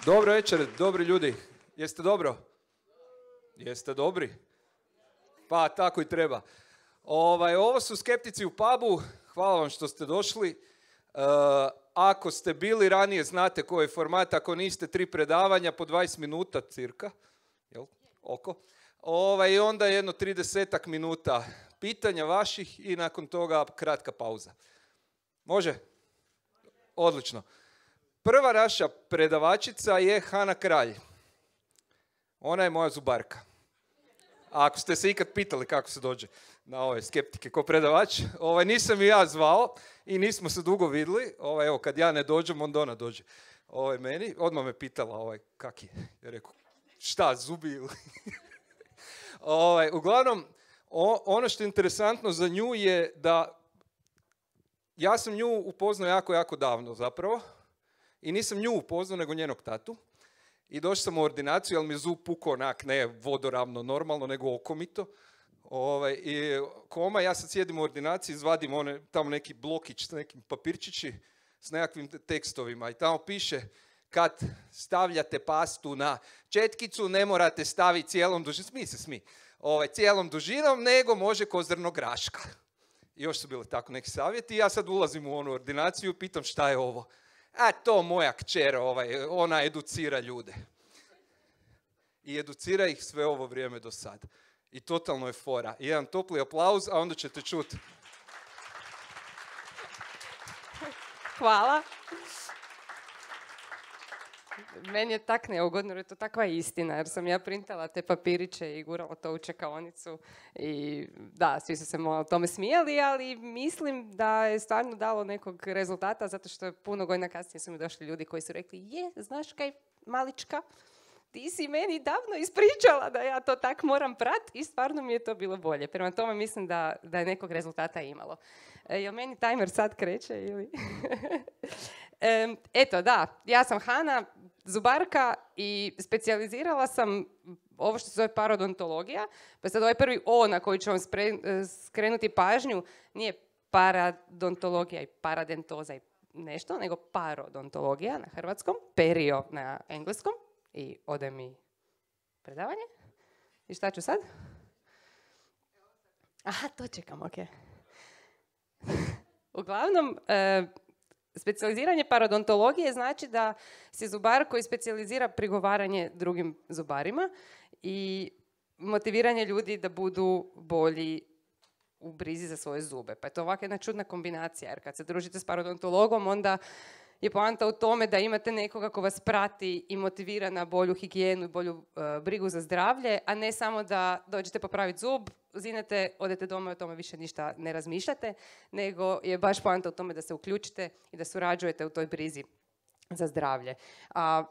Dobro večer, dobri ljudi. Jeste dobro? Jeste dobri? Pa tako i treba. Ovo su Skeptici u pubu. Hvala vam što ste došli. Ako ste bili ranije, znate koji je format. Ako niste, 3 predavanja po 20 minuta cirka. Jel? Oko. I onda jedno 30 minuta pitanja vaših i nakon toga kratka pauza. Može? Odlično. Prva naša predavačica je Hana Kralj. Ona je moja zubarka. A ako ste se ikad pitali kako se dođe na ove skeptike ko predavač, nisam i ja zvao i nismo se dugo vidjeli. Evo, kad ja ne dođem, onda ona dođe meni. Odmah me pitala kak je. Ja rekao, šta, zubi ili? Uglavnom, ono što je interesantno za nju je da ja sam nju upoznao jako davno zapravo. I nisam nju upoznao, nego njenog tatu. I došao sam u ordinaciju, ali mi je zub pukao onak, ne vodoravno normalno, nego okomito. I koma, ja sad sjedim u ordinaciji, izvadim tamo neki blokić s nekim papirčići s nekakvim tekstovima. I tamo piše, kad stavljate pastu na četkicu, ne morate staviti cijelom dužinom, cijelom dužinom, nego može ko zrno graška. I još su bili tako neki savjeti. I ja sad ulazim u onu ordinaciju i pitam šta je ovo. A to moja kćer, ona educira ljude. I educira ih sve ovo vrijeme do sada. I totalno je fora. Jedan topli aplauz, a onda ćete čuti. Hvala. Meni je tak neugodno, jer je to takva istina, jer sam ja printala te papiriće i gurala to u čekaonicu i da, svi su se malo tome smijali, ali mislim da je stvarno dalo nekog rezultata, zato što je puno godina kasnije su mi došli ljudi koji su rekli, znaš kaj, malička, ti si meni davno ispričala da ja to tak moram prat i stvarno mi je to bilo bolje. Prema tome mislim da je nekog rezultata imalo. Jel meni timer sad kreće ili? Eto, da, ja sam Hana, zubarka i specijalizirala sam ovo što se zove parodontologija. Pa sad ovaj prvi O na koji ću vam skrenuti pažnju nije paradontologija i paradentoza i nešto, nego parodontologija na hrvatskom, perio na engleskom. I ode mi predavanje. I šta ću sad? Aha, to čekam, ok. Uglavnom, specijaliziranje parodontologije znači da si zubar koji specijalizira prigovaranje drugim zubarima i motiviranje ljudi da budu bolji u brizi za svoje zube. Pa je to ovakva jedna čudna kombinacija, jer kad se družite s parodontologom, onda je poanta u tome da imate nekoga ko vas prati i motivira na bolju higijenu i bolju brigu za zdravlje, a ne samo da dođete popraviti zub, zinete, odete doma i o tome više ništa ne razmišljate, nego je baš poanta u tome da se uključite i da surađujete u toj brizi za zdravlje.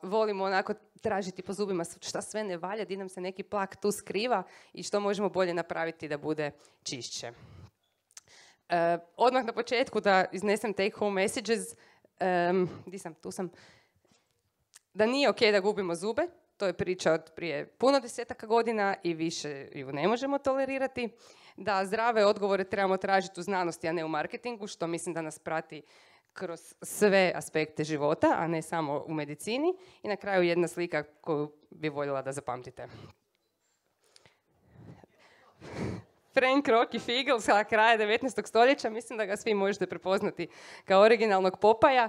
Volimo onako tražiti po zubima šta sve ne valja, di nam se neki plak tu skriva i što možemo bolje napraviti da bude čišće. Odmah na početku da iznesem take home messages. Tu sam. Da nije ok da gubimo zube, to je priča od prije puno 10 godina i više ju ne možemo tolerirati. Da zdrave odgovore trebamo tražiti u znanosti, a ne u marketingu, što mislim da nas prati kroz sve aspekte života, a ne samo u medicini. I na kraju jedna slika koju bi voljela da zapamtite. Frank Rocky Figel sa kraja 19. stoljeća, mislim da ga svi možete prepoznati kao originalnog Popaja.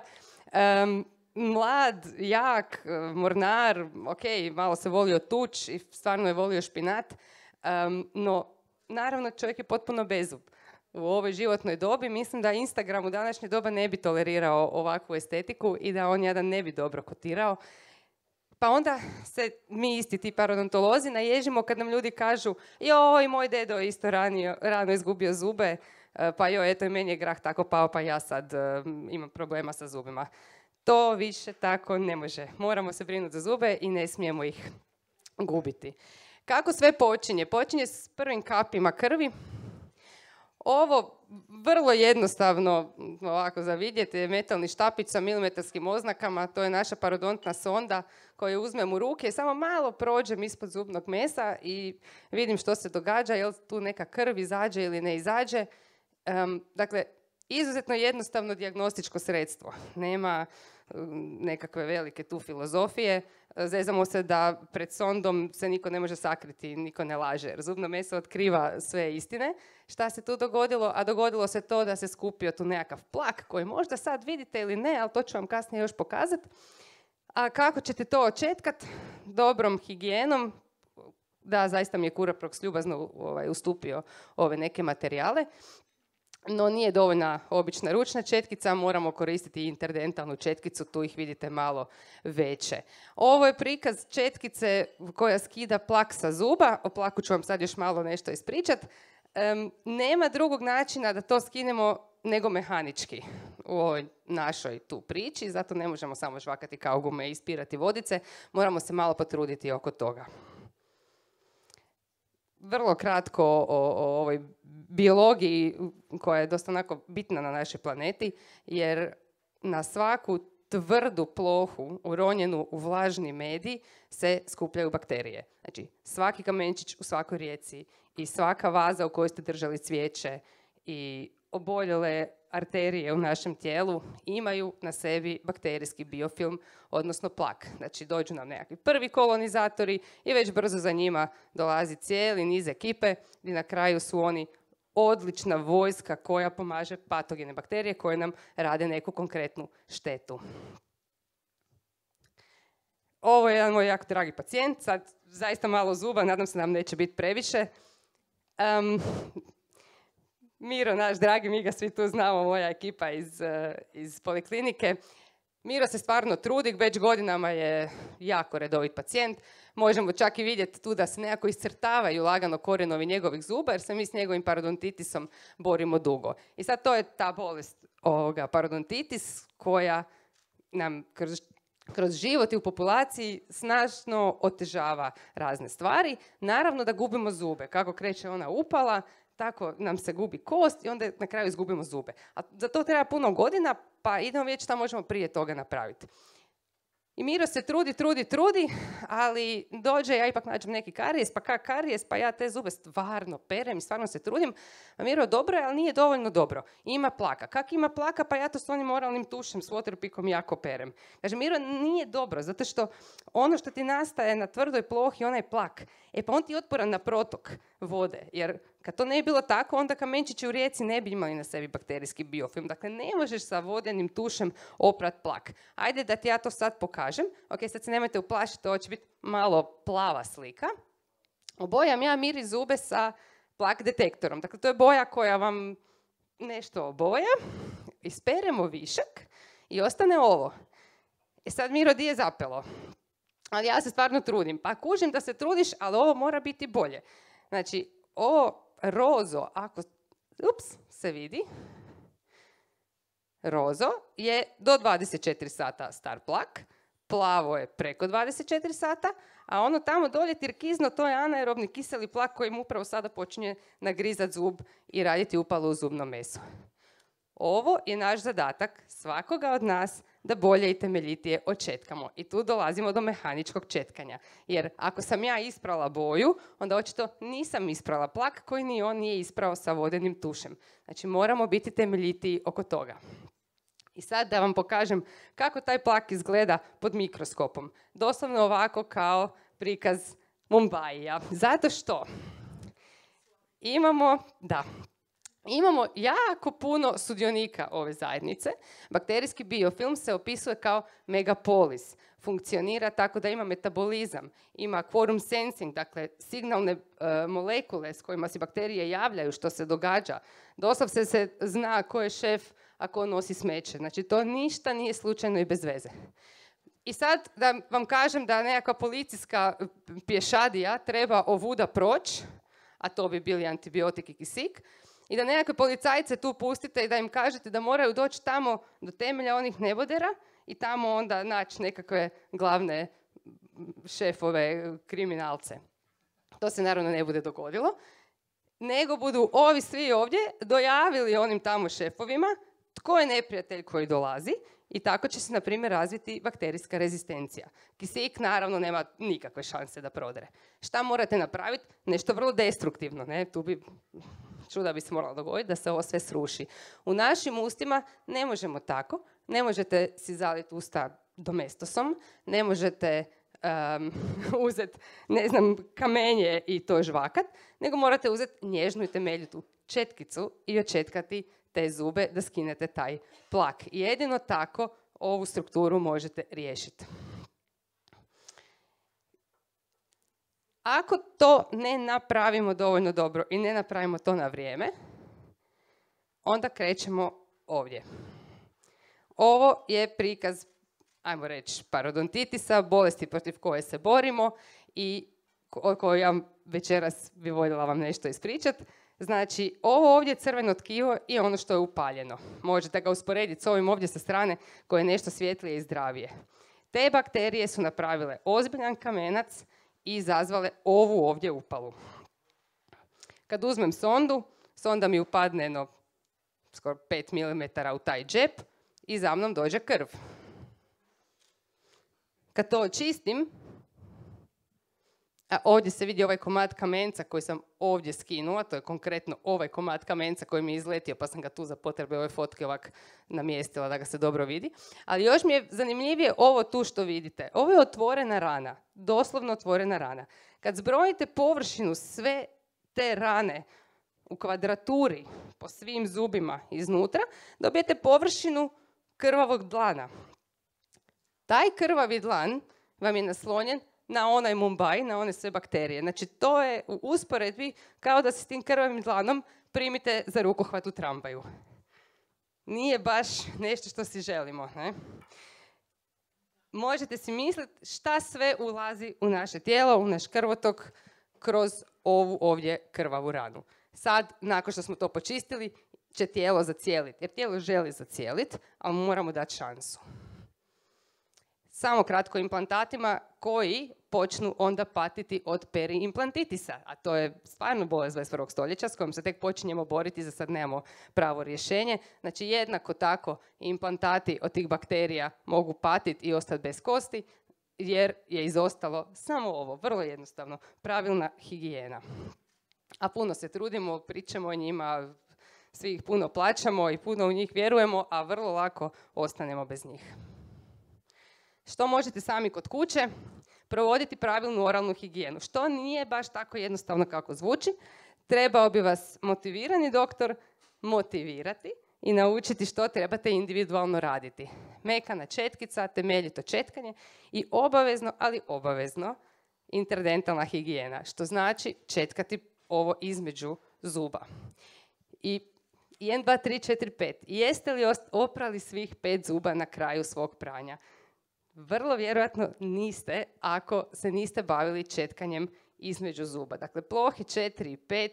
Mlad, jak, mornar, ok, malo se volio tuč i stvarno je volio špinat, no naravno čovjek je potpuno bezub. U ovoj životnoj dobi mislim da Instagram u današnje doba ne bi tolerirao ovakvu estetiku i da on jadan ne bi dobro kotirao. Pa onda se mi isti ti parodontolozi naježimo kad nam ljudi kažu joj, moj dedo je isto rano izgubio zube, pa joj, eto i meni je grah tako pao, pa ja sad imam problema sa zubima. To više tako ne može. Moramo se brinuti za zube i ne smijemo ih gubiti. Kako sve počinje? Počinje s prvim kapima krvi. Ovo vrlo jednostavno ovako za vidjeti je metalni štapić sa milimetarskim oznakama, to je naša parodontna sonda koju uzmem u ruke, samo malo prođem ispod zubnog mesa i vidim što se događa, jel tu neka krv izađe ili ne izađe. Dakle, izuzetno jednostavno dijagnostičko sredstvo. Nema nekakve velike tu filozofije. Zezamo se da pred sondom se niko ne može sakriti, niko ne laže, jer zubno meso otkriva sve istine. Šta se tu dogodilo? A dogodilo se to da se skupio tu nekakav plak koji možda sad vidite ili ne, ali to ću vam kasnije još pokazati. A kako ćete to očetkat? Dobrom higijenom. Da, zaista mi je Curaprox ljubazno ustupio ove neke materijale. No nije dovoljna obična ručna četkica, moramo koristiti interdentalnu četkicu, tu ih vidite malo veće. Ovo je prikaz četkice koja skida plak sa zuba, o plaku ću vam sad još malo nešto ispričat. Nema drugog načina da to skinemo nego mehanički u ovoj našoj tu priči, zato ne možemo samo žvakati kao gume i ispirati vodice, moramo se malo potruditi oko toga. Vrlo kratko o ovoj biologiji koja je dosta onako bitna na našoj planeti, jer na svaku tvrdu plohu uronjenu u vlažni medij se skupljaju bakterije. Znači, svaki kamenčić u svakoj rijeci i svaka vaza u kojoj ste držali cvijeće i oboljele arterije u našem tijelu imaju na sebi bakterijski biofilm, odnosno plak. Znači, dođu nam nekakvi prvi kolonizatori i već brzo za njima dolazi cijeli niz ekipe i na kraju su oni odlična vojska koja pomaže patogene bakterije koje nam rade neku konkretnu štetu. Ovo je jedan moj jako dragi pacijent, sad zaista malo zuba, nadam se da nam neće biti previše. Miro, naš dragi, mi ga svi tu znamo, moja ekipa iz poliklinike. Miro se stvarno trudi, već godinama je jako redovit pacijent. Možemo čak i vidjeti tu da se nekako iscrtavaju lagano korijenovi njegovih zuba, jer se mi s njegovim parodontitisom borimo dugo. I sad to je ta bolest parodontitis koja nam kroz život i u populaciji snažno otežava razne stvari. Naravno da gubimo zube. Kako kreće ona upala, tako nam se gubi kost i onda na kraju izgubimo zube. A za to treba puno godina, pa idemo vidjeti šta možemo prije toga napraviti. I Miro se trudi, ali dođe, ja ipak nađem neki karijes, pa karijes, pa ja te zube stvarno perem i stvarno se trudim. A Miro, dobro je, ali nije dovoljno dobro. Ima plaka. Kak ima plaka, pa ja to s onim oralnim tušem, s Waterpikom jako perem. Kaže, Miro, nije dobro, zato što ono što ti nastaje na tvrdoj plohi, onaj plak, pa on ti je otporan na protok vode, jer kad to ne bi bilo tako, onda kamenčići u rijeci ne bi imali na sebi bakterijski biofilm. Dakle, ne možeš sa vodenim tušem oprat plak. Ajde da ti ja to sad pokažem. Ok, sad se nemojte uplašiti, ovo će biti malo plava slika. Obojam ja Miri zube sa plak detektorom. Dakle, to je boja koja vam nešto oboja. Isperemo višak i ostane ovo. Sad, Miro, di je zapelo? Ali ja se stvarno trudim. Pa kužim da se trudiš, ali ovo mora biti bolje. Znači, ovo rozo, ako se vidi, rozo je do 24 sata star plak, plavo je preko 24 sata, a ono tamo dolje tirkizno, to je anaerobni kiseli plak kojim upravo sada počinje nagrizat zub i raditi upalu u zubno meso. Ovo je naš zadatak svakoga od nas da bolje i temeljitije očetkamo. I tu dolazimo do mehaničkog četkanja. Jer ako sam ja isprala boju, onda očito nisam isprala plak koji ni on nije isprao sa vodenim tušem. Znači moramo biti temeljitiji oko toga. I sad da vam pokažem kako taj plak izgleda pod mikroskopom. Doslovno ovako kao prikaz Mumbaija. Zato što imamo jako puno sudionika ove zajednice. Bakterijski biofilm se opisuje kao megapolis. Funkcionira tako da ima metabolizam, ima quorum sensing, dakle signalne molekule s kojima se bakterije javljaju što se događa. Doslovce se zna ko je šef, a ko nosi smeće. Znači to ništa nije slučajno i bez veze. I sad da vam kažem da nekakva policijska pješadija treba ovuda proći, a to bi bili antibiotik i kisik, i da nekakve policajce tu pustite i da im kažete da moraju doći tamo do temelja onih nebodera i tamo onda naći nekakve glavne šefove kriminalce. To se naravno ne bude dogodilo, nego budu ovi svi ovdje dojavili onim tamo šefovima tko je neprijatelj koji dolazi i tako će se, na primjer, razviti bakterijska rezistencija. Kisik, naravno, nema nikakve šanse da prodre. Šta morate napraviti? Nešto vrlo destruktivno, ne? Tu bi čuda bi se moralo dogoditi da se ovo sve sruši. U našim ustima ne možemo tako, ne možete si zaliti usta domestosom, ne možete uzeti, ne znam, kamenje i to žvakat, nego morate uzeti nježnu i temeljitu četkicu i očetkati te zube da skinete taj plak. I jedino tako ovu strukturu možete riješiti. Ako to ne napravimo dovoljno dobro i ne napravimo to na vrijeme, onda krećemo ovdje. Ovo je prikaz, ajmo reći, parodontitisa, bolesti protiv koje se borimo i o kojoj ja večeras bi voljela vam nešto ispričati. Znači, ovo ovdje crveno tkivo je ono što je upaljeno. Možete ga usporediti s ovim ovdje sa strane koje je nešto svjetlije i zdravije. Te bakterije su napravile ozbiljan kamenac i izazvale ovu ovdje upalu. Kad uzmem sondu, sonda mi upadne skoro 5 mm u taj džep i za mnom dođe krv. Kad to očistim, a ovdje se vidi ovaj komad kamenca koji sam ovdje skinula, to je konkretno ovaj komad kamenca koji mi je izletio, pa sam ga tu za potrebe ove fotke ovak namjestila da ga se dobro vidi. Ali još mi je zanimljivije ovo tu što vidite. Ovo je otvorena rana, doslovno otvorena rana. Kad zbrojite površinu sve te rane u kvadraturi po svim zubima iznutra, dobijete površinu krvavog dlana. Taj krvavi dlan vam je naslonjen na onaj Mumbai, na one sve bakterije. Znači, to je u usporedbi kao da se s tim krvavim dlanom primite za rukohvat u tramvaju. Nije baš nešto što si želimo, ne? Možete si misliti šta sve ulazi u naše tijelo, u naš krvotok, kroz ovu ovdje krvavu ranu. Sad, nakon što smo to počistili, će tijelo zacijeliti. Jer tijelo želi zacijeliti, ali moramo dati šansu. Samo kratko implantatima koji počnu onda patiti od periimplantitisa, a to je stvarno bolest 21. stoljeća s kojom se tek počinjemo boriti, za sad nemamo pravo rješenje. Znači, jednako tako implantati od tih bakterija mogu patiti i ostati bez kosti, jer je izostalo samo ovo, vrlo jednostavno, pravilna higijena. A puno se trudimo, pričamo o njima, svi ih puno plaćamo i puno u njih vjerujemo, a vrlo lako ostanemo bez njih. Što možete sami kod kuće? Provoditi pravilnu oralnu higijenu, što nije baš tako jednostavno kako zvuči. Trebao bi vas motivirani doktor motivirati i naučiti što trebate individualno raditi. Mekana četkica, temeljito četkanje i obavezno, ali obavezno, interdentalna higijena, što znači četkati ovo između zuba. I 1, 2, 3, 4, 5. Jeste li oprali svih 5 zuba na kraju svog pranja? Vrlo vjerojatno niste, ako se niste bavili četkanjem između zuba. Dakle, plohe 4 i 5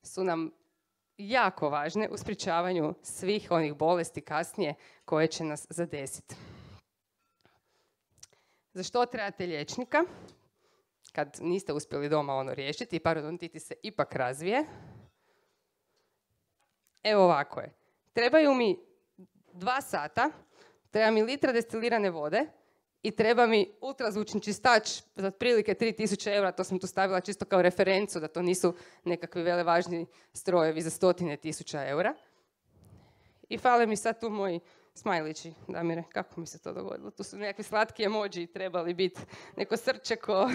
su nam jako važne u sprječavanju svih onih bolesti kasnije koje će nas zadesiti. Za što trebate liječnika? Kad niste uspjeli doma ono riješiti i parodontitis se ipak razvije. Evo ovako je. Trebaju mi 2 sata, treba mi litra destilirane vode, i treba mi ultrazvučni čistač za otprilike 3000 eura, to sam tu stavila čisto kao referencu, da to nisu nekakvi velevažni strojevi za 100.000 eura. I fale mi sad tu moji smajlići, Damire, kako mi se to dogodilo? Tu su nekakvi slatki emoji trebali biti, neko srčeko.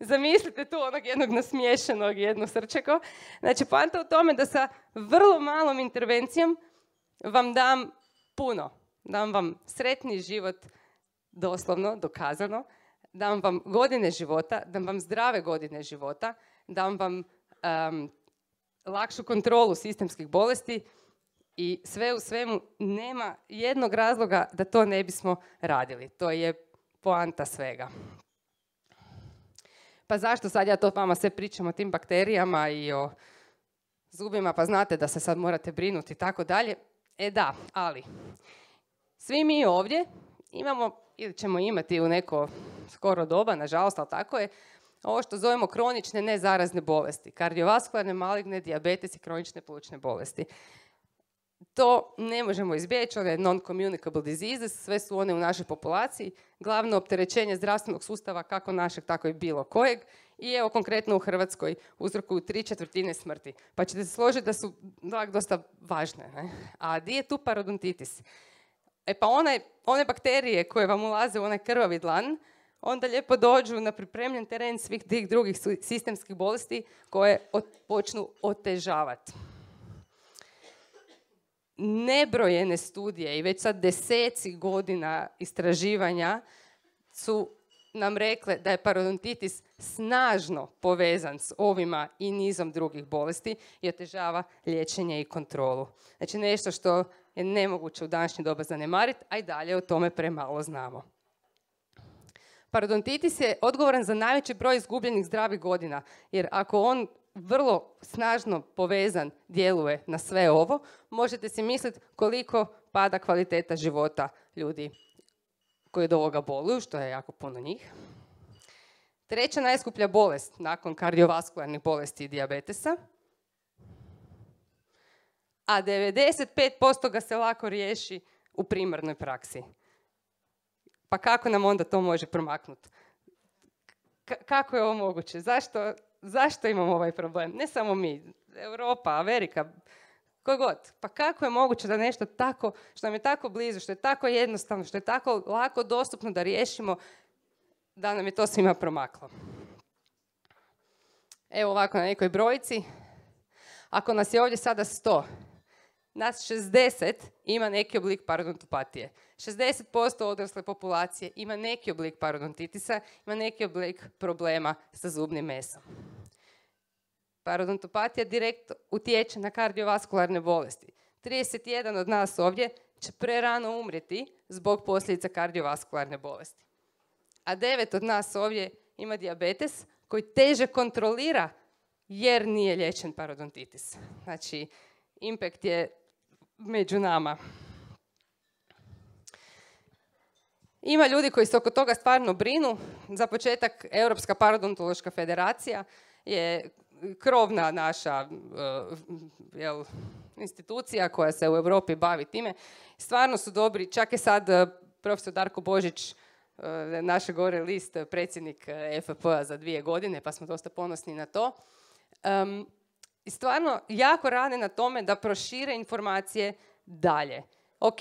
Zamislite tu onog jednog nasmiješenog, jedno srčeko. Znači, poanta u tome da sa vrlo malom intervencijom vam dam puno. Dam vam sretni život, doslovno, dokazano, dam vam godine života, dam vam zdrave godine života, dam vam lakšu kontrolu sistemskih bolesti i sve u svemu nema jednog razloga da to ne bismo radili. To je poanta svega. Pa zašto sad ja to vama sve pričam o tim bakterijama i o zubima, pa znate da se sad morate brinuti i tako dalje? E da, ali svi mi ovdje imamo, ili ćemo imati u neko skoro doba, nažalost, ali tako je, ovo što zovemo kronične nezarazne bolesti, kardiovaskularne, maligne, dijabetes i kronične plućne bolesti. To ne možemo izbjeći, one non-communicable diseases, sve su one u našoj populaciji, glavno opterećenje zdravstvenog sustava, kako našeg, tako i bilo kojeg, I evo konkretno u Hrvatskoj uzrokuju 3/4 smrti. Pa ćete se složiti da su dosta važne. Ne? A di je tu parodontitis? Pa one bakterije koje vam ulaze u onaj krvavi dlan, onda lijepo dođu na pripremljen teren svih tih drugih sistemskih bolesti koje počnu otežavati. Nebrojene studije i već sad deseci godina istraživanja su nam rekle da je parodontitis snažno povezan s ovima i nizom drugih bolesti i otežava liječenje i kontrolu. Znači nešto što je nemoguće u današnje doba zanemariti, a i dalje o tome premalo znamo. Parodontitis je odgovoran za najveći broj izgubljenih zdravih godina, jer ako on vrlo snažno povezan djeluje na sve ovo, možete si misliti koliko pada kvaliteta života ljudi koji od ovoga boluju, što je jako puno njih. Treća najskuplja bolest nakon kardiovaskularnih bolesti i dijabetesa, a 95% ga se lako riješi u primarnoj praksi. Pa kako nam onda to može promaknuti? Kako je ovo moguće? Zašto imamo ovaj problem? Ne samo mi, Europa, Amerika, koji god. Pa kako je moguće da nešto tako, što nam je tako blizu, što je tako jednostavno, što je tako lako dostupno da riješimo, da nam je to svima promaklo? Evo ovako na nekoj brojci. Ako nas je ovdje sada 100, nas 60 ima neki oblik parodontopatije. 60% odrasle populacije ima neki oblik parodontitisa, ima neki oblik problema sa zubnim mesom. Parodontopatija direktno utječe na kardiovaskularne bolesti. 31 od nas ovdje će prerano umrijeti zbog posljedica kardiovaskularne bolesti. A 9 od nas ovdje ima dijabetes koji teže kontrolira jer nije liječen parodontitis. Znači, impact je među nama. Ima ljudi koji se oko toga stvarno brinu. Za početak, Europska parodontološka federacija je krovna naša institucija koja se u Europi bavi time. Stvarno su dobri. Čak je sad profesor Darko Božić, naš gore list, predsjednik FP-a za 2 godine, pa smo dosta ponosni na to. I stvarno jako rade na tome da prošire informacije dalje. Ok,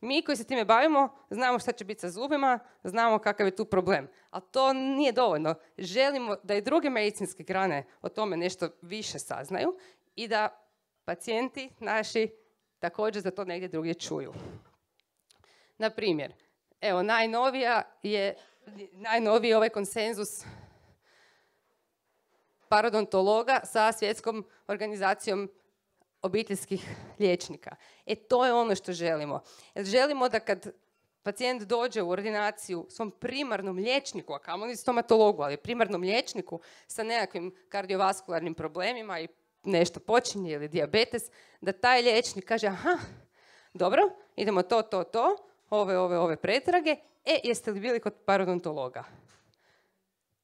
mi koji se time bavimo, znamo šta će biti sa zubima, znamo kakav je tu problem. Ali to nije dovoljno. Želimo da i druge medicinske grane o tome nešto više saznaju i da pacijenti naši također za to negdje drugdje čuju. Na primjer, evo, najnoviji ovaj konsenzus parodontologa sa Svjetskom organizacijom obiteljskih liječnika. To je ono što želimo. Želimo da kad pacijent dođe u ordinaciju svom primarnom liječniku, a kamoli stomatologu, ali primarnom liječniku sa nekakvim kardiovaskularnim problemima i nešto počinje ili dijabetes, da taj liječnik kaže, aha, dobro, idemo ove pretrage, jeste li bili kod parodontologa?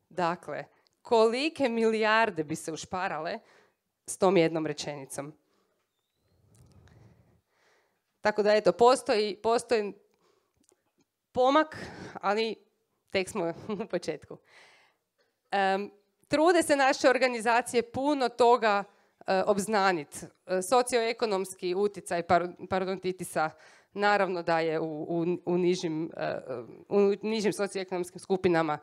Dakle, kolike milijarde bi se ušparale s tom jednom rečenicom. Tako da, eto, postoji pomak, ali tek smo u početku. Trude se naše organizacije puno toga obznaniti. Socioekonomski utjecaj parodontitisa naravno da je u nižim socioekonomskim skupinama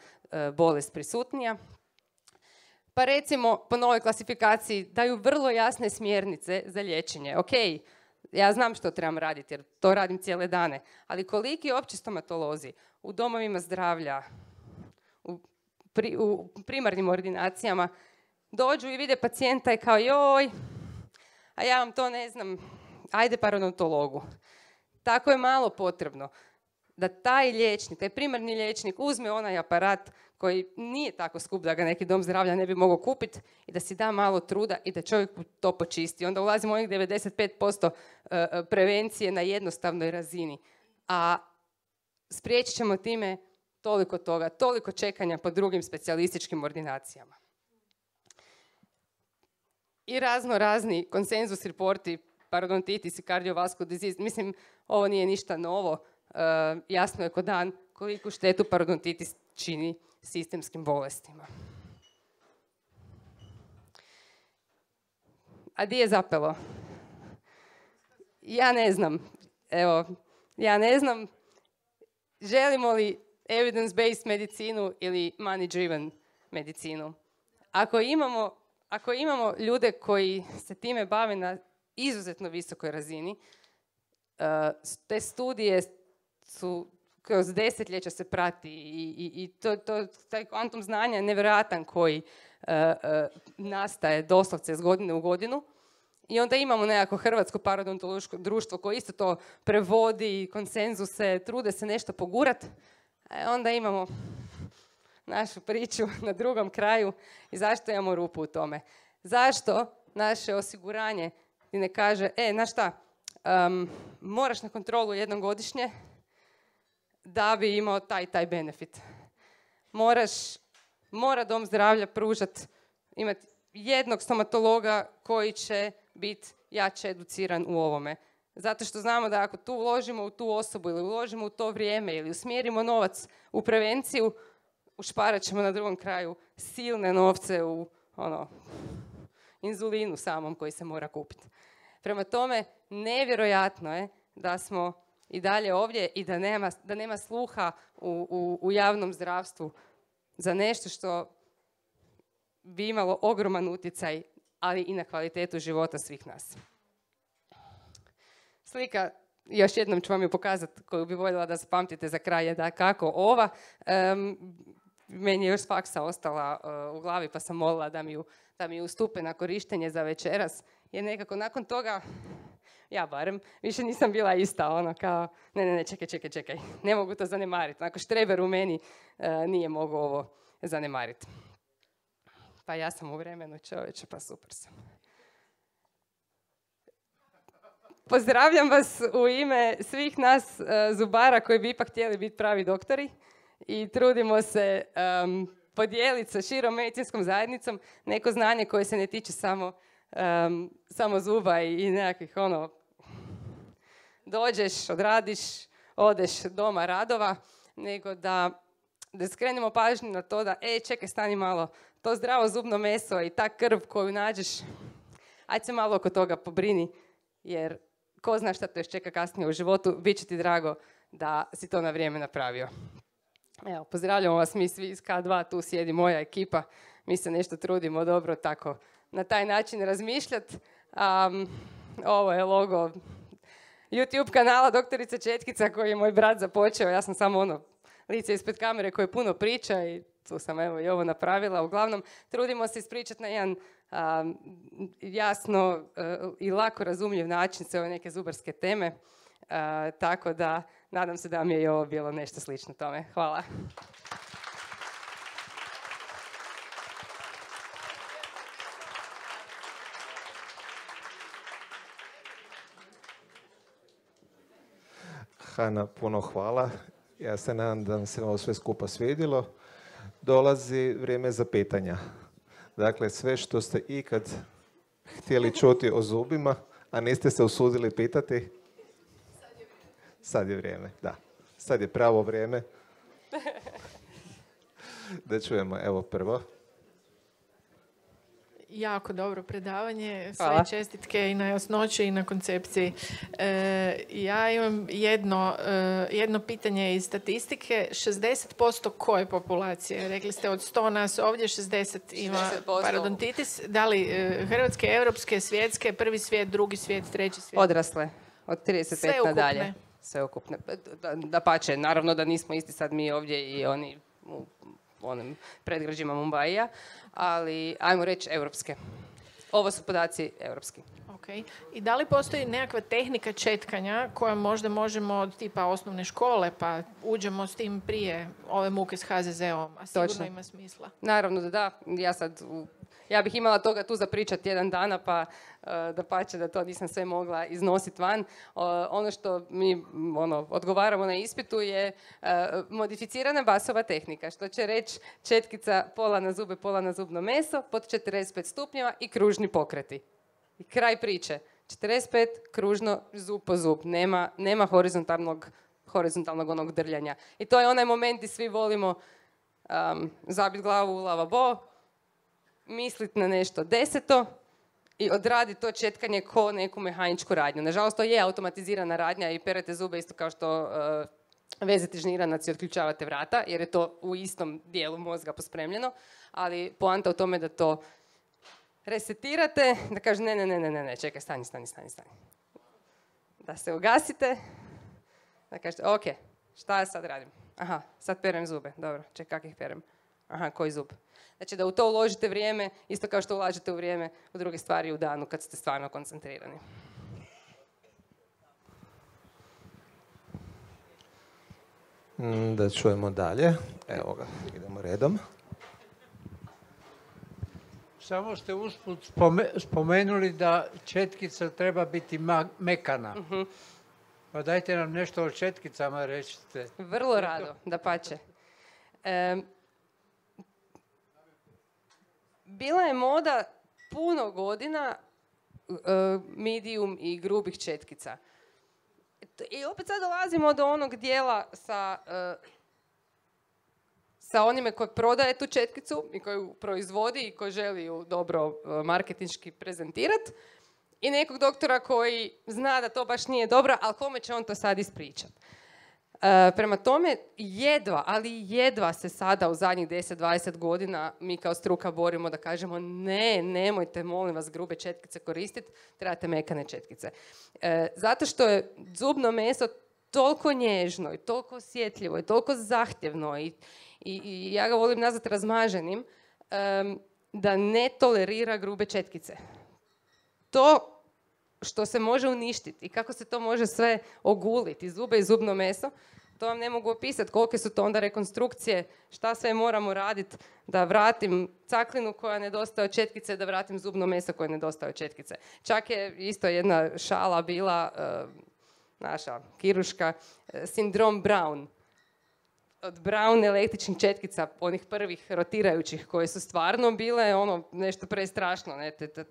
bolest prisutnija. Pa recimo, po novoj klasifikaciji daju vrlo jasne smjernice za liječenje. Ok, ja znam što trebam raditi jer to radim cijele dane, ali koliki opći stomatolozi u domovima zdravlja, u primarnim ordinacijama dođu i vide pacijenta i kao joj, a ja vam to ne znam, ajde parodontologu. Tako je malo potrebno da taj liječnik, taj primarni liječnik uzme onaj aparat koji nije tako skup da ga neki dom zdravlja ne bi mogao kupiti i da si da malo truda i da čovjek to počisti. Onda ulazimo u onih 95% prevencije na jednostavnoj razini. A spriječit ćemo time toliko toga, toliko čekanja po drugim specijalističkim ordinacijama. I razni konsenzus reporti, parodontitis i cardiovascular disease. Mislim, ovo nije ništa novo. Jasno je ko dan koliku štetu parodontitis čini sistemskim bolestima. A di je zapelo? Ja ne znam. Evo, ja ne znam. Želimo li evidence-based medicinu ili money-driven medicinu? Ako imamo ljude koji se time bave na izuzetno visokoj razini, te studije su kroz desetljeća se prati i taj kvantum znanja je nevjerojatan koji nastaje doslovce iz godine u godinu. I onda imamo nekako Hrvatsko parodontološko društvo koje isto to prevodi, konsenzuse, trude se nešto pogurat. Onda imamo našu priču na drugom kraju i zašto imamo rupu u tome. Zašto naše osiguranje ti ne kaže, znaš šta, moraš na kontrolu jednom godišnje da bi imao taj benefit. Mora dom zdravlja imati jednog stomatologa koji će biti jače educiran u ovome. Zato što znamo da ako tu uložimo u tu osobu ili uložimo u to vrijeme ili usmjerimo novac u prevenciju, ušparat ćemo na drugom kraju silne novce u inzulinu samom koji se mora kupiti. Prema tome, nevjerojatno je da smo i dalje ovdje i da nema sluha u javnom zdravstvu za nešto što bi imalo ogroman utjecaj, ali i na kvalitetu života svih nas. Slika, još jednom ću vam ju pokazati, koju bi voljela da zapamtite za kraj, je da kako ova. Meni je još s faksa ostala u glavi, pa sam molila da mi ustupe na korištenje za večeras. Jer nekako nakon toga, ja barem, više nisam bila ista, kao, ne, čekaj, ne mogu to zanemariti. Onako štreber u meni nije mogao ovo zanemariti. Pa ja sam u vremenu, čovječe, pa super sam. Pozdravljam vas u ime svih nas zubara koji bi ipak htjeli biti pravi doktori i trudimo se podijeliti sa širom medicinskom zajednicom neko znanje koje se ne tiče samo zuba i nekakvih dođeš, odradiš, odeš doma radova, nego da skrenemo pažnju na to da, čekaj, stani malo, to zdravo zubno meso i ta krv koju nađeš, ajde se malo oko toga pobrini, jer ko zna šta te još čeka kasnije u životu, bit će ti drago da si to na vrijeme napravio. Evo, pozdravljamo vas mi svi iz K2, tu sjedi moja ekipa, mi se nešto trudimo dobro tako na taj način razmišljati. Ovo je logo YouTube kanala Doktorica Četkica koji je moj brat započeo, ja sam samo lice ispred kamere koje puno priča i tu sam evo i ovo napravila. Uglavnom, trudimo se ispričati na jedan jasno i lako razumljiv način sve ove neke zubarske teme. Tako da, nadam se da mi je i ovo bilo nešto slično tome. Hvala. Hana, puno hvala. Ja se nadam da vam se ovo sve skupa svidjelo. Dolazi vrijeme za pitanja. Dakle, sve što ste ikad htjeli čuti o zubima, a niste se usudili pitati, sad je vrijeme. Da, sad je pravo vrijeme. Da čujemo, evo prvo. Jako dobro predavanje, sve Hvala. čestitke i na jasnoći i na koncepciji. Ja imam jedno pitanje iz statistike. 60% koje populacije? Rekli ste od 100 nas ovdje 60 ima 60%. parodontitis. Da li hrvatske, europske, svjetske, prvi svijet, drugi svijet, treći svijet? Odrasle, od 35 nadalje. Sveukupne. Dapače, naravno da nismo isti sad mi ovdje i oni u onim predgrađima Mumbaija, ali ajmo reći europske. Ovo su podaci europski. Okay. I da li postoji nekakva tehnika četkanja koja možda možemo od tipa osnovne škole pa uđemo s tim prije ove muke s HZZ-om, a sigurno Točno. ima smisla? Naravno da da. Ja bih imala toga tu za pričat jedan dana, pa dapače da to nisam sve mogla iznositi van. Ono što mi odgovaramo na ispitu je modificirana basova tehnika, što će reći četkica pola na zube, pola na zubno meso, pod 45 stupnjeva i kružni pokreti. I kraj priče. 45 kružno, zub po zub. Nema horizontalnog onog drljanja. I to je onaj moment gdje svi volimo zabiti glavu u lavabo, misliti na nešto deseto i odradi to četkanje ko neku mehaničku radnju. Nažalost, to je automatizirana radnja i perete zube isto kao što vezete žniranac i otključavate vrata, jer je to u istom dijelu mozga pospremljeno, ali poanta u tome da to resetirate, da kaže ne, čekaj, stani. Da se ugasite, da kažete, ok, šta ja sad radim? Aha, sad perem zube, dobro, čekaj, kak ih perem? Aha, koji zub? Znači da u to uložite vrijeme, isto kao što ulažete u vrijeme u druge stvari u danu kad ste stvarno koncentrirani. Da čujemo dalje. Evo ga, idemo redom. Samo ste usput spomenuli da četkica treba biti mekana. Pa dajte nam nešto o četkicama, recite. Vrlo rado, dapače. Bila je moda puno godina medium i grubih četkica. I opet sad dolazimo do onog dijela sa onime koji prodaje tu četkicu i koji ju proizvodi i koji želi ju dobro marketinški prezentirati. I nekog doktora koji zna da to baš nije dobro, ali kome će on to sad ispričati. Prema tome, jedva se sada u zadnjih 10-20 godina mi kao struka borimo da kažemo nemojte, molim vas, grube četkice koristiti, trebate mekane četkice. Zato što je zubno meso toliko nježno i toliko osjetljivo i toliko zahtjevno i ja ga volim nazvati razmaženim, da ne tolerira grube četkice. To što se može uništiti i kako se to može sve oguliti, i zube i zubno meso, to vam ne mogu opisati kolike su to onda rekonstrukcije, šta sve moramo raditi da vratim caklinu koja nedostaje od četkice, da vratim zubno meso koje nedostaje od četkice. Čak je isto jedna šala bila, naša kiruška, sindrom Brown. Od Brown električnih četkica, onih prvih rotirajućih, koje su stvarno bile nešto prestrašno,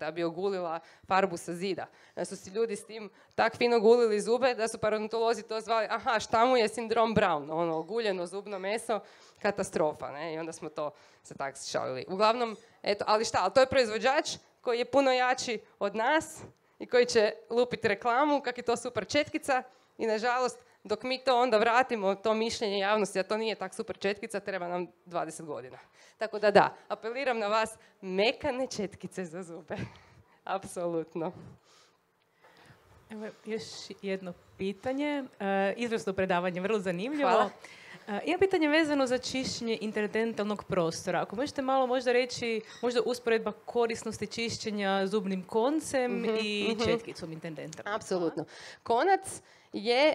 da bi ogulila farbu sa zida. Da su si ljudi s tim tak fino gulili zube da su parodontolozi to zvali, aha, šta mu je sindrom Brown, oguljeno zubno meso, katastrofa, ne? I onda smo to se tak šalili. Uglavnom, eto, ali to je proizvođač koji je puno jači od nas i koji će lupiti reklamu, kak je to super četkica i nažalost, dok mi to onda vratimo, to mišljenje javnosti, a to nije tak super četkica, treba nam 20 godina. Tako da, apeliram na vas, mekane četkice za zube. Apsolutno. Evo, još jedno pitanje. Izvrsno predavanje, vrlo zanimljivo. Hvala. Imam pitanje vezano za čišćenje interdentalnog prostora. Ako možete malo možda reći, možda usporedba korisnosti čišćenja zubnim koncem i četkicom interdentalnom. Apsolutno. Konac je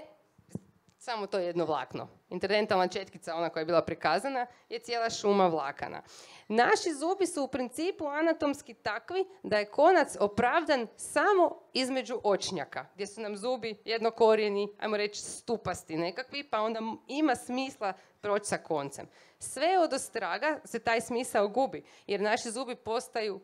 samo to jedno vlakno. Interdentalna četkica, ona koja je bila prikazana, je cijela šuma vlakana. Naši zubi su u principu anatomski takvi da je konac opravdan samo između očnjaka, gdje su nam zubi jednokorijeni, ajmo reći stupasti nekakvi, pa onda ima smisla proći sa koncem. Sve od ostraga se taj smisao gubi, jer naši zubi postaju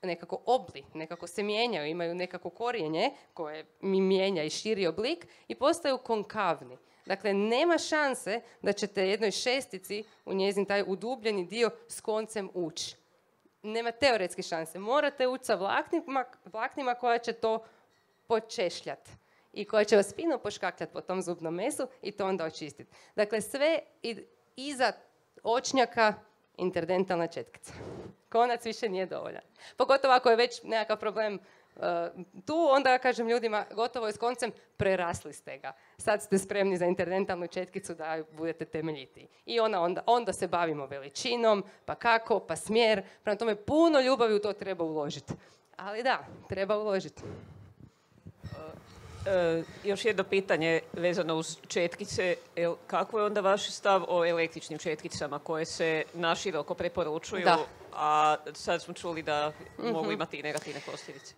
nekako obli, nekako se mijenjaju, imaju nekako korijenje koje mi mijenja i širi oblik i postaju konkavni. Dakle, nema šanse da ćete jednoj šestici u njezin taj udubljeni dio s koncem ući. Nema teoretske šanse. Morate ući sa vlaknima koja će to počešljati i koja će vas fino poškakljati po tom zubnom mesu i to onda očistiti. Dakle, sve iza očnjaka interdentalna četkica. Konac više nije dovoljan. Pogotovo ako je već nekakav problem tu, onda ja kažem ljudima, gotovo je s koncem, prerasli ste ga. Sad ste spremni za interdentalnu četkicu da budete temeljitiji. I onda se bavimo veličinom, pa kako, pa smjer. Prema tome, puno ljubavi u to treba uložiti. Ali da, treba uložiti. Još jedno pitanje vezano uz četkice. Kako je onda vaš stav o električnim četkicama koje se naširoko preporučuju, a sad smo čuli da mogu imati i negativne posljedice?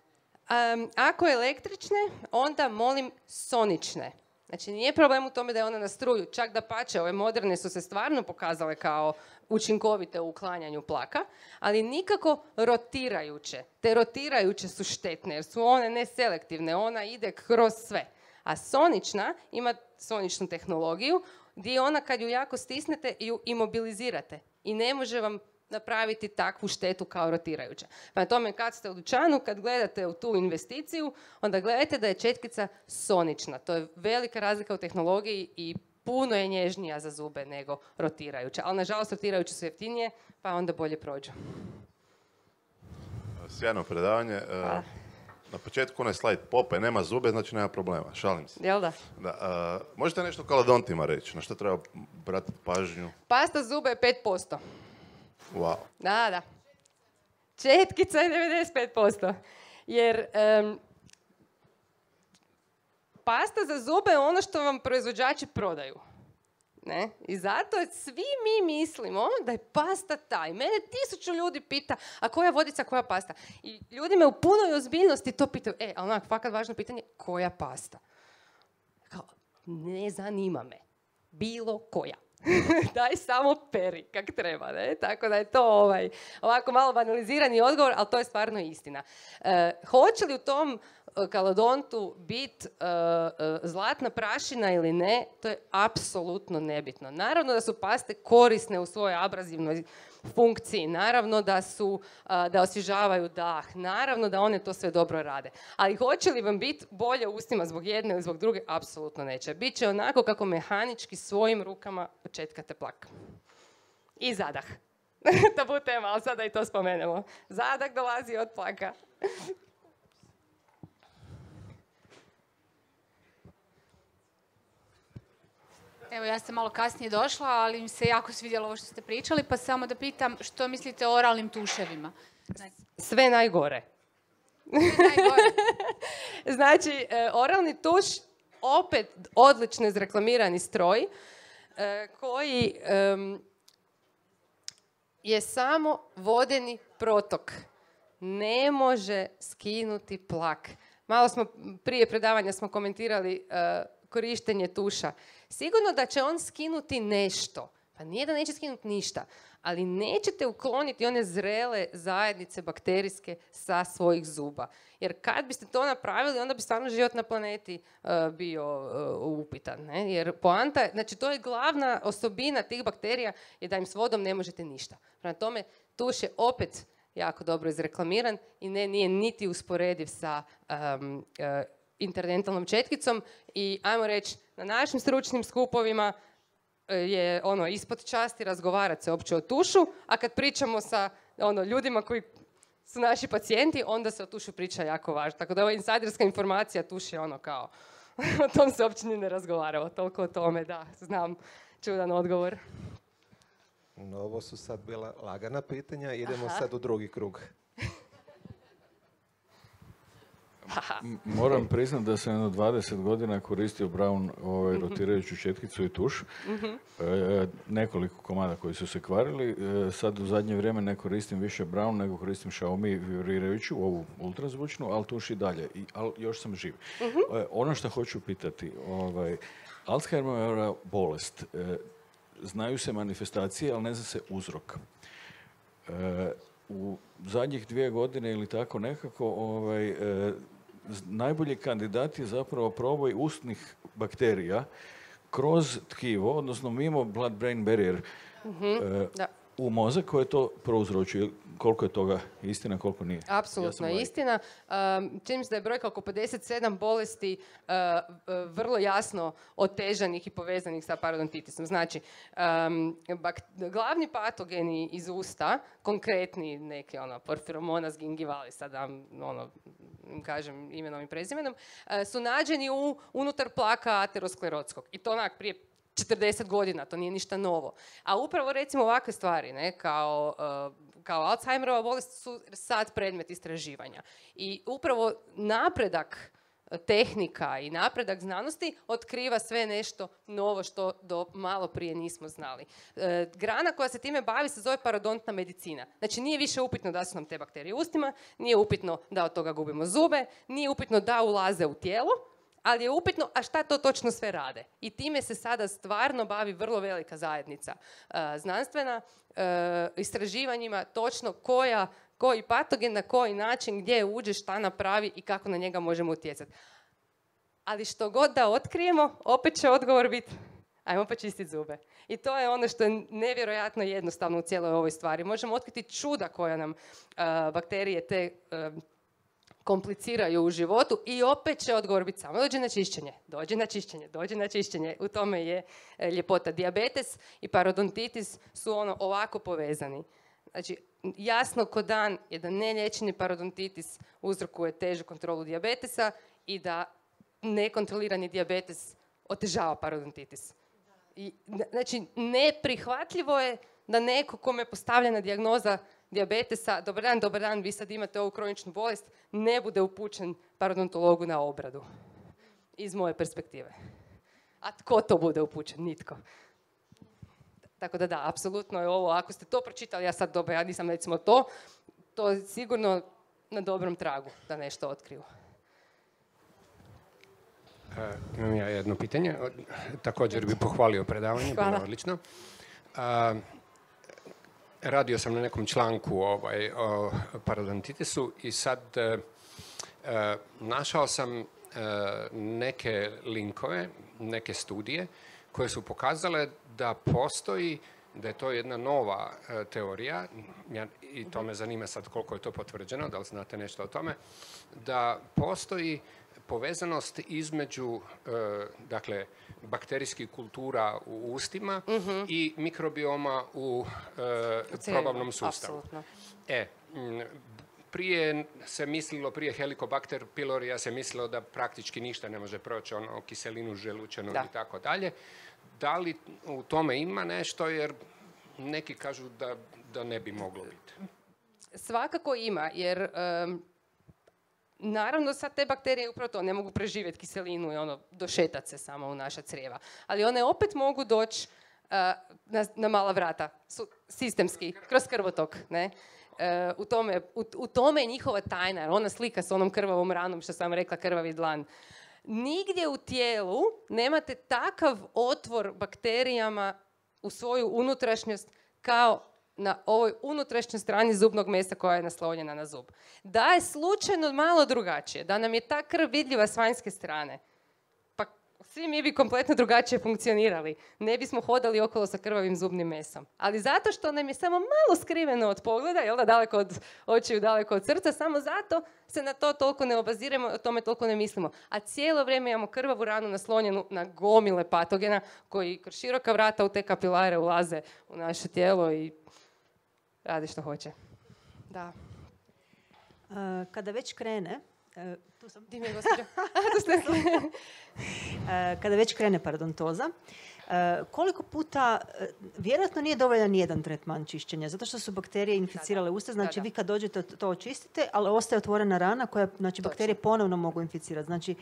Ako električne, onda molim sonične. Znači, nije problem u tome da je ona na struju. Čak da pače, ove moderne su se stvarno pokazale kao učinkovite u uklanjanju plaka, ali nikako rotirajuće. Te rotirajuće su štetne jer su one neselektivne, ona ide kroz sve. A sonična ima soničnu tehnologiju gdje ona kad ju jako stisnete ju imobilizirate i ne može vam napraviti takvu štetu kao rotirajuća. Pa na tome kad ste u dućanu, kad gledate u tu investiciju, onda gledajte da je četkica sonična. To je velika razlika u tehnologiji i puno je nježnija za zube nego rotirajuća. Ali nažalost rotirajuće su jeftinije, pa onda bolje prođu. Sjajno predavanje. Na početku onaj slajd Popaj nema zube, znači nema problema. Šalim se. Jel da? Da, možete nešto o kalodontima reći? Na što treba obratiti pažnju? Pasta zuba je 5%. Wow. Da. Četkica je 95%. Jer pasta za zube je ono što vam proizvođači prodaju. Ne? I zato svi mi mislimo da je pasta taj. Mene 1000 ljudi pita, a koja vodica, koja pasta? I ljudi me u punoj ozbiljnosti to pitaju. Ali onak, fakat važno pitanje, koja pasta? Kao, ne zanima me. Bilo koja. Daj samo peri kak treba, ne? Tako da je to ovako malo banalizirani odgovor, ali to je stvarno istina. Hoće li u tom kalodontu biti zlatna prašina ili ne, to je apsolutno nebitno. Naravno da su paste korisne u svojoj abrazivnoj funkciji, naravno da osvježavaju dah, naravno da one to sve dobro rade. Ali hoće li vam biti bolje u ustima zbog jedne ili zbog druge? Apsolutno neće. Biće onako kako mehanički svojim rukama početkate plak. I zadah. To bude tema, ali sada i to spomenemo. Zadah dolazi od plaka. Evo, ja sam malo kasnije došla, ali mi se jako svidjelo ovo što ste pričali, pa samo da pitam što mislite o oralnim tuševima? Sve najgore. Znači, oralni tuš, opet odlično izreklamirani stroj, koji je samo vodeni protok. Ne može skinuti plak. Malo smo, prije predavanja smo komentirali korištenje tuša. Sigurno da će on skinuti nešto. Pa nije da neće skinuti ništa. Ali nećete ukloniti one zrele zajednice bakterijske sa svojih zuba. Jer kad biste to napravili, onda bi stvarno život na planeti bio upitan. Ne? Jer poanta, znači to je glavna osobina tih bakterija, je da im s vodom ne možete ništa. Prema tome, tuš je opet jako dobro izreklamiran i nije niti usporediv sa interdentalnom četkicom i ajmo reći, na našim stručnim skupovima je ispod časti razgovarati se uopće o tušu, a kad pričamo sa ljudima koji su naši pacijenti, onda se o tušu priča jako važno. Tako da ova insajderska informacija, tuš je kao, o tom se uopće ni ne razgovaralo, toliko o tome, da, znam, čudan odgovor. No, ovo su sad bila lagana pitanja, idemo sad u drugi krug. Moram priznati da sam jedno 20 godina koristio Braun rotirajuću četkicu i tuš. Nekoliko komada koji su se kvarili. Sad u zadnje vrijeme ne koristim više Braun, nego koristim Xiaomi vibrirajuću, ovu ultrazvučnu, ali tuš i dalje. Ali još sam živ. Ono što hoću pitati, Alzheimerova bolest, znaju se manifestacije, ali ne zna se uzrok. U zadnjih 2 godine ili tako nekako, najbolji kandidat je zapravo proboj ustnih bakterija kroz tkivo, odnosno mimo blood-brain barrier u mozak koje to prouzročuje. Koliko je toga istina, koliko nije? Apsolutno je istina. Čini mi se da je brojka oko 57 bolesti vrlo jasno otežanih i povezanih sa parodontitisom. Znači, glavni patogeni iz usta, konkretni neki Porphyromonas gingivalis, sad kažem imenom i prezimenom, su nađeni unutar plaka aterosklerotskog. I to prije 40 godina, to nije ništa novo. A upravo recimo ovakve stvari, kao Alzheimerova bolest su sad predmet istraživanja. I upravo napredak tehnika i napredak znanosti otkriva sve nešto novo što do malo prije nismo znali. Grana koja se time bavi se zove parodontna medicina. Znači nije više upitno da su nam te bakterije u ustima, nije upitno da od toga gubimo zube, nije upitno da ulaze u tijelo, ali je upitno, a šta to točno sve rade. I time se sada stvarno bavi vrlo velika zajednica znanstvena, istraživanjima točno koji patogen, na koji način, gdje uđe, šta napravi i kako na njega možemo utjecati. Ali što god da otkrijemo, opet će odgovor biti, Ajmo počistiti zube. I to je ono što je nevjerojatno jednostavno u cijeloj ovoj stvari. Možemo otkriti čuda koja nam bakterije te kompliciraju u životu i opet će odgovor biti samo dođe na čišćenje. U tome je ljepota. Dijabetes i parodontitis su ovako povezani. Znači, jasno ko dan je da neliječeni parodontitis uzrokuje težu kontrolu dijabetesa i da nekontrolirani dijabetes otežava parodontitis. Znači, neprihvatljivo je da neko kome je postavljena dijagnoza dijabetesa, dobar dan, vi sad imate ovu kroničnu bolest, ne bude upućen parodontologu na obradu. Iz moje perspektive. A tko to bude upućen? Nitko. Tako da, apsolutno je ovo, ako ste to pročitali, ja nisam recimo to je sigurno na dobrom tragu da nešto otkriju. Imam ja jedno pitanje. Također bih pohvalio predavanje, bilo je odlično. Radio sam na nekom članku o parodontitisu i sad našao sam neke linkove, neke studije koje su pokazale da postoji, da je to jedna nova teorija, i to me zanima sad koliko je to potvrđeno, da li znate nešto o tome, da postoji povezanost između dakle, bakterijskih kultura u ustima i mikrobioma u probavnom sustavu. Prije se mislilo, prije Helicobacter pylorija se mislilo da praktički ništa ne može proći, kiselinu želučanu i tako dalje. Da li u tome ima nešto, jer neki kažu da ne bi moglo biti? Svakako ima, jer naravno sad te bakterije upravo to ne mogu preživjeti kiselinu i došetat se samo u naša crijeva. Ali one opet mogu doći na mala vrata, sistemski, kroz krvotok, ne? U tome je njihova tajna, jer ona slika s onom krvavom ranom, što sam rekla, krvavi dlan. Nigdje u tijelu nemate takav otvor bakterijama u svoju unutrašnjost kao na ovoj unutrašnjoj strani zubnog mesa koja je naslonjena na zub. Da je slučajno malo drugačije, da nam je ta krv vidljiva s vanjske strane, pa svi mi bi kompletno drugačije funkcionirali. Ne bismo hodali okolo sa krvavim zubnim mesom. Ali zato što nam je samo malo skriveno od pogleda, jel da, daleko od očiju, daleko od srca, samo zato se na to toliko ne obaziramo, o tome toliko ne mislimo. A cijelo vrijeme imamo krvavu ranu naslonjenu na gomile patogena koji kroz široka vrata u te kapilare ulaze u naše tijelo i radi što hoće. Da. Kada već krene, tu sam. Di mi je gospođa? Kada već krene parodontoza, koliko puta, vjerojatno nije dovoljan jedan tretman čišćenja, zato što su bakterije inficirale usta, znači vi kad dođete to očistite, ali ostaje otvorena rana koja, znači bakterije ponovno mogu inficirati. Znači,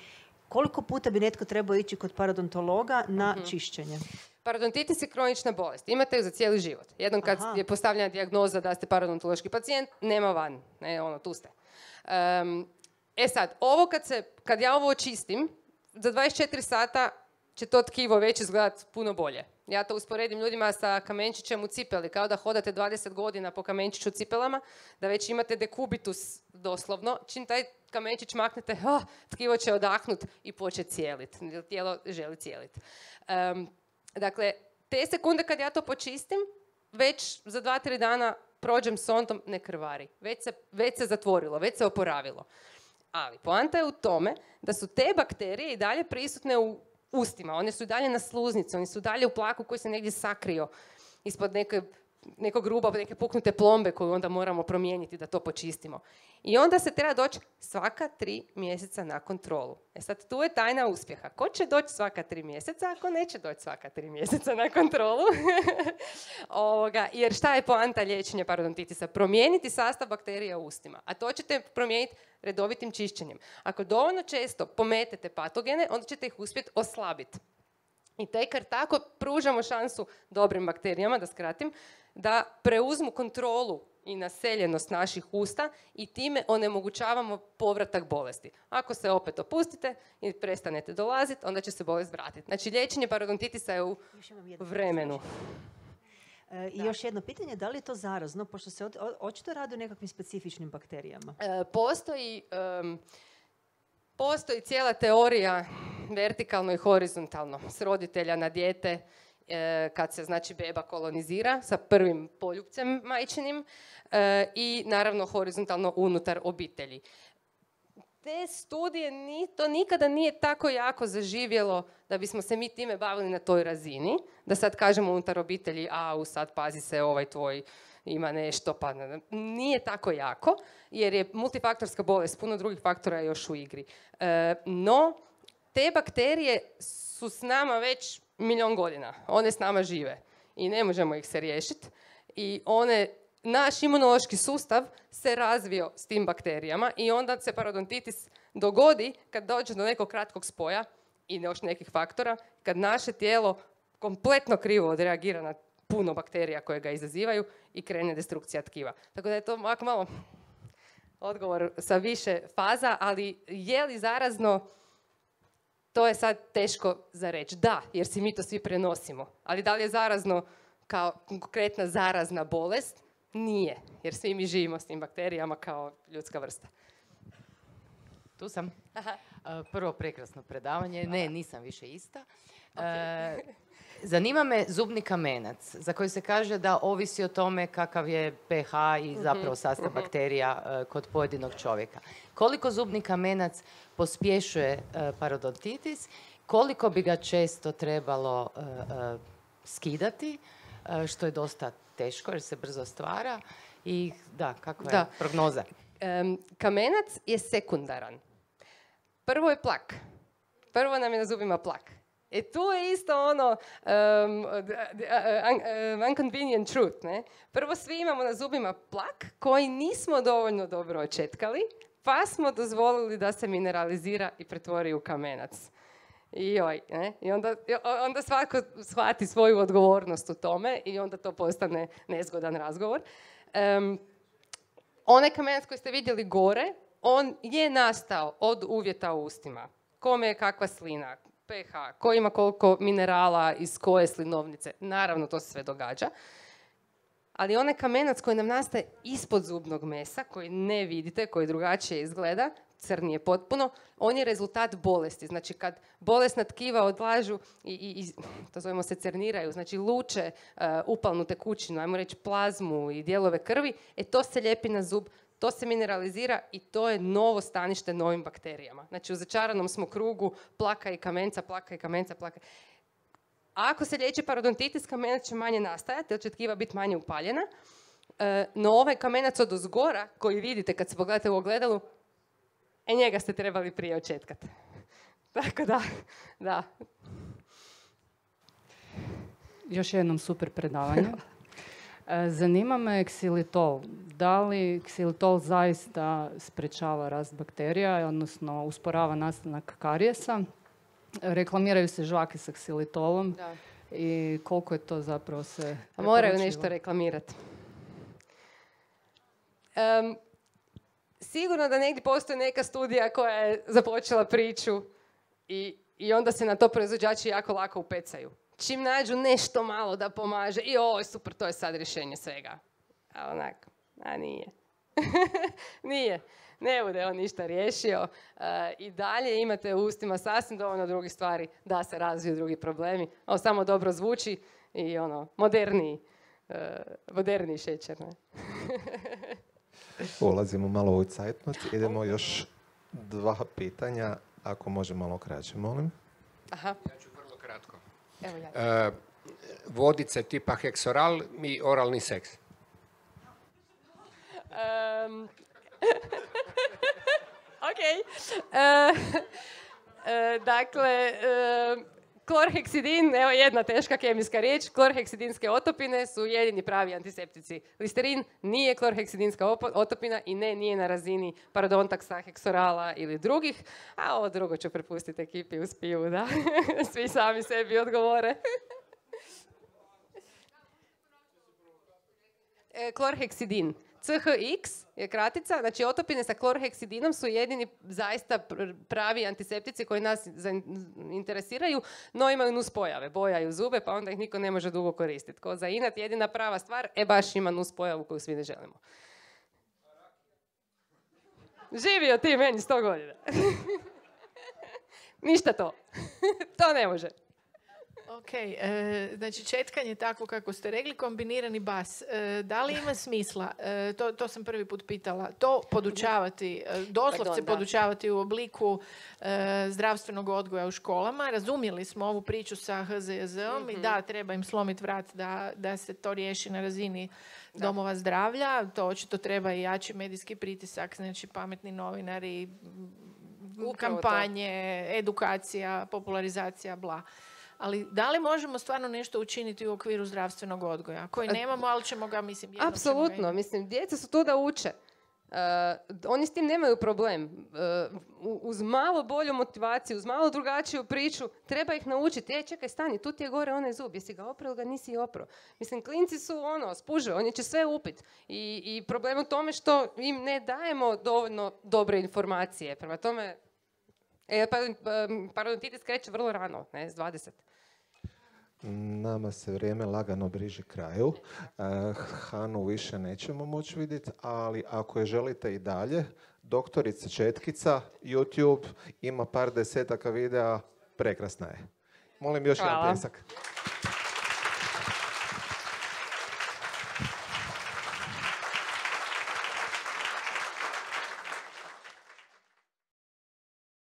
koliko puta bi netko trebao ići kod parodontologa na čišćenje? Parodontitis je kronična bolest. Imate ju za cijeli život. Jednom kad je postavljena dijagnoza da ste parodontološki pacijent, nema van. Ne, tu ste. Sad, kad ja ovo očistim, za 24 sata će to tkivo već izgledati puno bolje. Ja to usporedim ljudima sa kamenčićem u cipeli, kao da hodate 20 godina po kamenčiću cipelama, da već imate dekubitus doslovno. Čim taj kamenčić maknete, tkivo će odahnut i početi cijeliti. Tijelo želi cijeliti. Dakle, te sekunde kad ja to počistim, već za 2-3 dana prođem sondom, ne krvari. Već se zatvorilo, već se oporavilo. Ali poanta je u tome da su te bakterije i dalje prisutne u ustima. One su i dalje na sluznici, oni su dalje u plaku koji se negdje sakrio ispod nekog ruba, neke puknute plombe koju onda moramo promijeniti da to počistimo. I onda se treba doći svaka 3 mjeseca na kontrolu. Sad, tu je tajna uspjeha. Ko će doći svaka 3 mjeseca, ako neće doći svaka 3 mjeseca na kontrolu? Jer šta je poanta liječenja parodontitisa? Promijeniti sastav bakterija u ustima. A to ćete promijeniti redovitim čišćenjem. Ako dovoljno često pometete patogene, onda ćete ih uspjeti oslabiti. I tek jer tako pružamo šansu dobrim bakterijama, da skratim, da preuzmu kontrolu i naseljenost naših usta i time onemogućavamo povratak bolesti. Ako se opet opustite i prestanete dolaziti, onda će se bolest vratiti. Znači, liječenje parodontitisa je u vremenu. I još jedno pitanje, da li je to zarazno, pošto se očito radi o nekakvim specifičnim bakterijama? Postoji cijela teorija vertikalno i horizontalno, s roditelja na dijete, kad se znači beba kolonizira sa prvim poljupcem majčinim i naravno horizontalno unutar obitelji. Te studije to nikada nije tako jako zaživjelo da bismo se mi time bavili na toj razini, da sad kažemo unutar obitelji, sad pazi se ovaj tvoj ima nešto, pa nije tako jako, jer je multifaktorska bolest, puno drugih faktora je još u igri. No, te bakterije su s nama već 1.000.000 godina. One s nama žive i ne možemo ih se riješiti. I naš imunološki sustav se razvio s tim bakterijama i onda se parodontitis dogodi kad dođe do nekog kratkog spoja i još nekih faktora, kad naše tijelo kompletno krivo odreagira na puno bakterija koje ga izazivaju i krene destrukcija tkiva. Tako da je to ovako malo odgovor sa više faza, ali je li zarazno, to je sad teško za reći. Da, jer si mi to svi prenosimo. Ali da li je zarazno kao konkretna zarazna bolest? Nije, jer svi mi živimo s tim bakterijama kao ljudska vrsta. Tu sam. Prvo prekrasno predavanje. Ne, nisam više ista. Okay. Zanima me zubni kamenac, za koji se kaže da ovisi o tome kakav je pH i zapravo sastav bakterija kod pojedinog čovjeka. Koliko zubni kamenac pospješuje parodontitis, koliko bi ga često trebalo skidati, što je dosta teško jer se brzo stvara i kakva je prognoza? Kamenac je sekundaran. Prvo je plak. Prvo nam je na zubima plak. Tu je isto inconvenient truth, ne? Prvo svi imamo na zubima plak koji nismo dovoljno dobro očetkali, pa smo dozvolili da se mineralizira i pretvori u kamenac. I onda svako shvati svoju odgovornost u tome i onda to postane nezgodan razgovor. Onaj kamenac koji ste vidjeli gore, on je nastao od uvjeta u ustima. Kome je kakva slina, pH, ko ima koliko minerala iz koje slinovnice. Naravno, to se sve događa. Ali onaj kamenac koji nam nastaje ispod zubnog mesa, koji ne vidite, koji drugačije izgleda, crnije potpuno, on je rezultat bolesti. Znači, kad bolesna tkiva odlažu i to zovemo se cerniraju, znači luče upalnu tekućinu, ajmo reći plazmu i dijelove krvi, to se lijepi na zub, to se mineralizira i to je novo stanište novim bakterijama. Znači, u začaranom smo krugu plaka i kamenca, plaka i kamenca, plaka. Ako se liječi parodontitis, kamenac će manje nastajati, jer će tkiva biti manje upaljena. No ovaj kamenac od ozgora, koji vidite kad se pogledate u ogledalu, njega ste trebali prije očetkati. Tako da. Još jednom super predavanje. Zanima me ksilitol. Da li ksilitol zaista sprečava rast bakterija, odnosno usporava nastanak karijesa? Reklamiraju se žvake sa ksilitolom i koliko je to zapravo se... Moraju nešto reklamirati. Sigurno da negdje postoji neka studija koja je započela priču i onda se na to proizvođači jako lako upecaju. Čim nađu nešto malo da pomaže i super, to je sad rješenje svega. A onako, nije. Nije. Ne bude on ništa riješio. I dalje imate u ustima sasvim dovoljno drugih stvari da se razviju drugi problemi. Ovo samo dobro zvuči i moderniji šećer. Ne? Ulazimo malo u Zeitnot. Idemo još 2 pitanja, ako može malo kraće, molim. Aha. Ja ću vrlo kratko. Evo ja. Vodice tipa heksoral i oralni seks. Ok. Dakle, klorheksidin, evo jedna teška kemijska riječ, klorheksidinske otopine su jedini pravi antiseptici. Listerin nije klorheksidinska otopina i nije na razini parodontaksa, heksorala ili drugih, a ovo drugo ću prepustiti ekipi uz pivu, da svi sami sebi odgovore. Klorheksidin. CHX je kratica, znači otopine sa klorheksidinom su jedini zaista pravi antiseptici koji nas interesiraju, no imaju nuspojave, bojaju zube, pa onda ih niko ne može dugo koristiti. Ko za inat, jedina prava stvar, baš ima nuspojavu koju svi ne želimo. Živio ti meni 100 godina. Ništa to. To ne može. Ok, znači četkanje takvo kako ste rekli, kombinirani bas. Da li ima smisla, to sam prvi put pitala, to podučavati, doslovce podučavati u obliku zdravstvenog odgoja u školama? Razumjeli smo ovu priču sa HZJZ-om i da, treba im slomiti vrat da se to riješi na razini domova zdravlja. To očito treba i jači medijski pritisak, znači pametni novinari, kampanje, edukacija, popularizacija, bla. Ali da li možemo stvarno nešto učiniti u okviru zdravstvenog odgoja? Koji nemamo, ali ćemo ga, mislim, jednom apsolutno, mislim, djeca su tu da uče. Oni s tim nemaju problem. Uz malo bolju motivaciju, uz malo drugačiju priču, treba ih naučiti. Čekaj, stani, tu ti je gore onaj zub, jesi ga oprao ili ga nisi oprao? Mislim, klinci su spuže, oni će sve upit. I problem u tome što im ne dajemo dovoljno dobre informacije. Prema tome, parodontitis kreće vrlo rano, ne, s 20. Nama se vrijeme lagano bliži kraju. Hanu više nećemo moći vidjeti, ali ako je želite i dalje, doktorica Četkica, YouTube, ima par desetaka videa, prekrasna je. Molim još jedan pljesak.